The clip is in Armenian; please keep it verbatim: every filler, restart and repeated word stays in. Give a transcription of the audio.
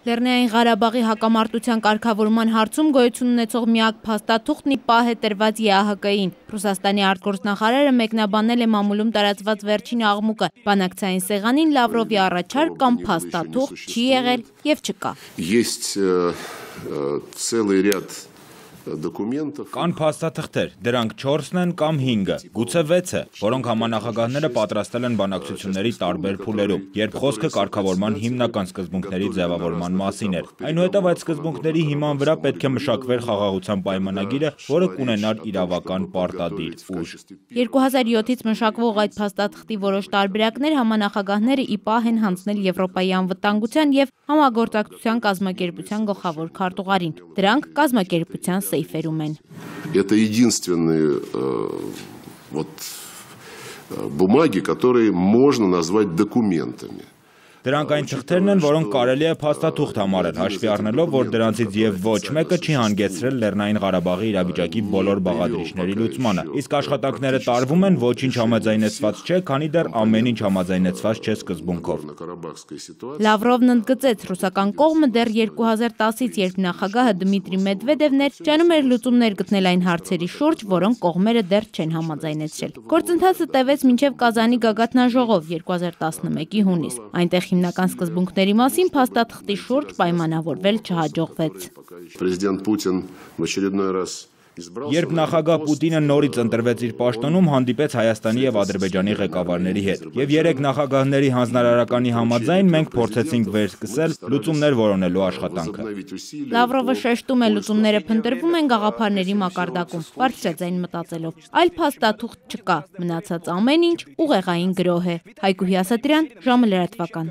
Լեռնային Ղարաբաղի հակամարտության կարգավորման հարցում գոյություն ունեցող միակ փաստաթուղթն ի պահ է տրված Է Ա Հ Կ-ին։ Ռուսաստանի արտգործնախարարը մեկնաբանել է մամուլում տարածված վերջին աղմուկը։ Բանակցային սեղանին Լավրովի առաջարկ կամ փաստաթուղթ չի եղել եւ չկա։ Կան փաստաթղթեր, դրանք չորսն են կամ հինգը, գուցե վեցը, որոնք համանախագահները պատրաստել են բանակցությունների տարբեր փուլերում, երբ խոսքը կարգավորման հիմնական սկզբունքների ձևավորման մասին էր։ Այնուհետև այդ սկզբունքների հիման վրա պետք է մշակվեր խաղաղության պայմանագիրը, որը կունենար իրավական պարտադիր ուժ։ երկու հազար յոթից մշակվող այդ փաստաթղթի որոշ տարբերակներ համանախագահները ի պահ են հանձնել Եվրոպայի անվտանգության եւ համագործակցության կազմակերպության գլխավոր քարտուղարին։ Դրանք կազմակերպության սեյֆերում են։ Это единственные вот бумаги, которые можно назвать документами. Դրանք այն թղթերն են, որոնք կարելի է փաստաթուղթ համարել, հաշվի առնելով, որ դրանցից եւ ոչ մեկը չի հանգեցրել Լեռնային Ղարաբաղի իրավիճակի բոլոր բաղադրիչների լուծմանը, իսկ աշխատանքները տարվում են ոչինչ համաձայնեցված չէ, քանի դեռ ամեն ինչ համաձայնեցված չէ սկզբունքով։ Լավրովն ընդգծեց, ռուսական կողմը դեռ երկու հազար տասից, երբ նախագահը Դմիտրի Մեդվեդևն էր, ջանում էր լուծումներ գտնել այն հարցերի շուրջ, որոնք կողմերը դեռ չեն համաձայնեցրել։ Գործընթացը տևեց մինչև Կազանի գագաթնաժողով երկու հազար տասնմեկի հունիս։ Այնտեղ հիմնական սկզբունքների մասին փաստաթղթի շուրջ պայմանավորվել չհաջողվեց։ Պրեզիդենտ Պուտին в очередной раз Երբ նախագահ Պուտինը նորից ընտրվեց իր պաշտոնում, հանդիպեց Հայաստանի եւ Ադրբեջանի ղեկավարների հետ։ Եվ երեք նախագահների հանձնարարականի համաձայն մենք փորձեցինք վերսկսել լուծումներ որոնելու աշխատանքը։ Լավրովը շեշտում է, լուծումները փնտրվում են գաղափարների մակարդակում, բարձրաձայն մտածելով։ Այլ փաստաթուղթ չկա, մնացած ամեն ինչ ուղեղային գրոհ է։ Հայկուհի Ասատրյան, ժամը լրատվական։